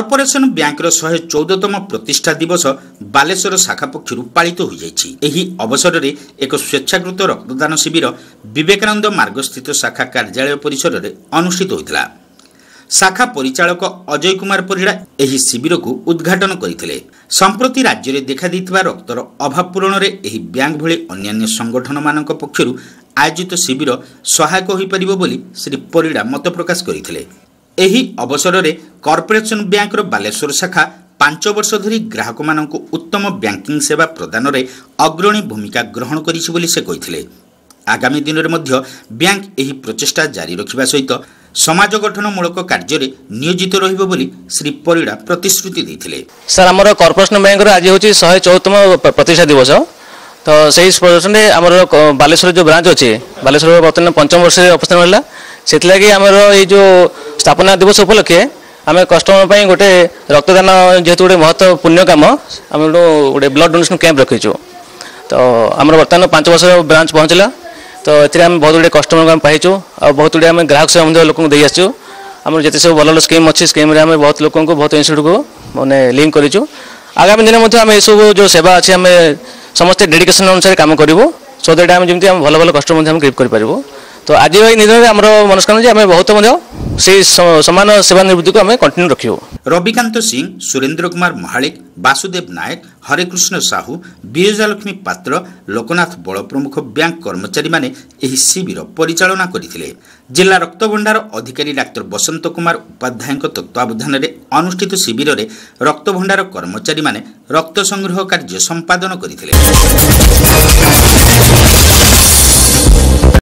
Corporation ବ୍ୟାଙ୍କର 114ତମ ପ୍ରତିଷ୍ଠା ଦିବସ ବାଲେଶ୍ୱର ଶାଖା ପକ୍ଷରୁ ପାଳିତ ହୋଇଯାଇଛି। ଏହି ଅବସରରେ ଏକ ସ୍ୱେଚ୍ଛାକୃତ ରକ୍ତଦାନ ଶିବିର ବିବେକାନନ୍ଦ ମାର୍ଗସ୍ଥିତ ଶାଖା କାର୍ଯ୍ୟାଳୟ ପରିସରରେ ଅନୁଷ୍ଠିତ ହୋଇଥିଲା। ଶାଖା ପରିଚାଳକ ଅଜୟ କୁମାର ପରିଡ଼ା ଏହି ଶିବିରକୁ ଉଦ୍ଘାଟନ କରିଥିଲେ। ସମ୍ପ୍ରତି ରାଜ୍ୟରେ ଦେଖାଦେଇଥିବା ରକ୍ତର ଅଭାବ ପୂରଣରେ ଏହି ବ୍ୟାଙ୍କ ଭଳି ଅନ୍ୟାନ୍ୟ ସଂଗଠନମାନଙ୍କ ପକ୍ଷରୁ ଆୟୋଜିତ ଶିବିର ସହାୟକ ହୋଇପାରିବ ବୋଲି ଶ୍ରୀ ପରିଡ଼ା ମତ ପ୍ରକାଶ କରିଥିଲେ। ଏହି ଅବସରରେ କର୍ପୋରେସନ ବ୍ୟାଙ୍କର ବାଲେଶ୍ୱର ଶାଖା 5 ବର୍ଷ ଧରି ଗ୍ରାହକମାନଙ୍କୁ ଉତ୍ତମ ବ୍ୟାଙ୍କିଂ ସେବା ପ୍ରଦାନରେ ଅଗ୍ରଣୀ ଭୂମିକା ଗ୍ରହଣ କରିଛି ବୋଲି ସେ କହିଥିଲେ। ଆଗାମୀ ଦିନରେ ମଧ୍ୟ ବ୍ୟାଙ୍କ ଏହି ପ୍ରଚେଷ୍ଟା ଜାରି ରଖିବା ସହିତ ସମାଜ ଗଠନମୂଳକ କାର୍ଯ୍ୟରେ ନିୟୋଜିତ ରହିବ ବୋଲି ଶ୍ରୀ ପରିଡ଼ା ପ୍ରତିଶ୍ରୁତି ଦେଇଥିଲେ। ସାର୍, ଆମର କର୍ପୋରେସନ ବ୍ୟାଙ୍କର ଆଜି ହେଉଛି 114ତମ ପ୍ରତିଷ୍ଠା ଦିବସ। ତ ସେଇ ପ୍ରଦର୍ଶନରେ ଆମର ବାଲେଶ୍ୱର ଯେଉଁ ବ୍ରାଞ୍ଚ ଅଛି, ବାଲେଶ୍ୱର ବର୍ତ୍ତମାନ ପଞ୍ଚମ ବର୍ଷରେ ଅବସ୍ଥାନ ହେଲା। ସେଥିଲାଗି ଆମର ଏଇ ଯେଉଁ ସ୍ଥାପନା ଦିବସ ଉପଲକ୍ଷେ ଆମେ କଷ୍ଟମର ପାଇଁ ଗୋଟେ ରକ୍ତଦାନ, ଯେହେତୁ ଗୋଟେ ମହତ୍ଵ ପୁଣ୍ୟ କାମ, ଆମେ ଗୋଟେ ବ୍ଲଡ୍ ଡୋନେସନ୍ କ୍ୟାମ୍ପ ରଖିଛୁ। ତ ଆମର ବର୍ତ୍ତମାନ 5 ବର୍ଷର ବ୍ରାଞ୍ଚ ପହଞ୍ଚିଲା। ତ ଏଥିରେ ଆମେ ବହୁତ ଗୁଡ଼ିଏ କଷ୍ଟମରଙ୍କୁ ଆମେ ପାଇଛୁ ଆଉ ବହୁତ ଗୁଡ଼ିଏ ଆମେ ଗ୍ରାହକ ସେବା ମଧ୍ୟ ଲୋକଙ୍କୁ ଦେଇ ଆସିଛୁ। ଆମର ଯେତେ ସବୁ ଭଲ ଭଲ ସ୍କିମ୍ ଅଛି, ସ୍କିମ୍ରେ ଆମେ ବହୁତ ଲୋକଙ୍କୁ, ବହୁତ ଇନଷ୍ଟିଚ୍ୟୁଟ୍କୁ ମାନେ ଲିଙ୍କ କରିଛୁ। ଆଗାମୀ ଦିନେ ମଧ୍ୟ ଆମେ ଏସବୁ ଯେଉଁ ସେବା ଅଛି, ଆମେ ସମସ୍ତେ ଡେଡିକେସନ୍ ଅନୁସାରେ କାମ କରିବୁ, ସୋ that ଆମେ ଯେମିତି ଆମେ ଭଲ ଭଲ କଷ୍ଟମର ମଧ୍ୟ ଆମେ ଗ୍ରିପ୍ କରିପାରିବୁ। ତ ଆଜି ଏଇ ଦିନରେ ଆମର ମନସ୍କାମନା ଯେ ଆମେ ବହୁତ ମଧ୍ୟ ସେଇ ସମାନ ସେବା ନିବୃତ୍ତିକୁ ଆମେ କଣ୍ଟିନ୍ୟୁ ରଖିବୁ। ରବିକାନ୍ତ ସିଂ, ସୁରେନ୍ଦ୍ର କୁମାର ମହାଳିକ, ବାସୁଦେବ ନାୟକ, ହରେକୃଷ୍ଣ ସାହୁ, ବିରଜାଲକ୍ଷ୍ମୀ ପାତ୍ର, ଲୋକନାଥ ବଳ ପ୍ରମୁଖ ବ୍ୟାଙ୍କ କର୍ମଚାରୀମାନେ ଏହି ଶିବିର ପରିଚାଳନା କରିଥିଲେ। ଜିଲ୍ଲା ରକ୍ତଭଣ୍ଡାର ଅଧିକାରୀ ଡାକ୍ତର ବସନ୍ତ କୁମାର ଉପାଧ୍ୟାୟଙ୍କ ତତ୍ତ୍ୱାବଧାନରେ ଅନୁଷ୍ଠିତ ଶିବିରରେ ରକ୍ତଭଣ୍ଡାର କର୍ମଚାରୀମାନେ ରକ୍ତ ସଂଗ୍ରହ କାର୍ଯ୍ୟ ସମ୍ପାଦନ କରିଥିଲେ।